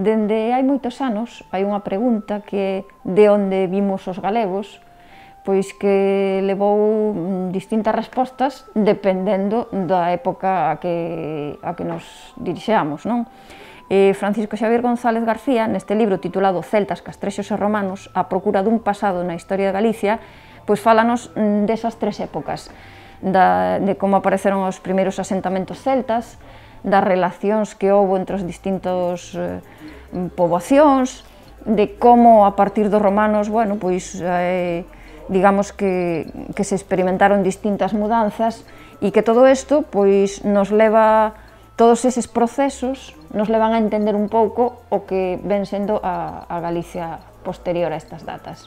Dende hai moitos anos hai unha pregunta que é de onde vimos os galegos, pois que levou distintas respostas dependendo da época a que nos dirixeamos, non? Francisco Xavier González García, neste libro titulado Celtas, Castrexos e Romanos, a procura dun pasado na historia de Galicia, pois fálanos desas tres épocas, de como apareceron os primeiros asentamentos celtas, das relacións que houbo entre os distintos poboacións, de como a partir dos romanos, bueno, pois, digamos que se experimentaron distintas mudanzas e que todo isto, pois, nos leva, todos eses procesos, nos levan a entender un pouco o que ven sendo a Galicia posterior a estas datas.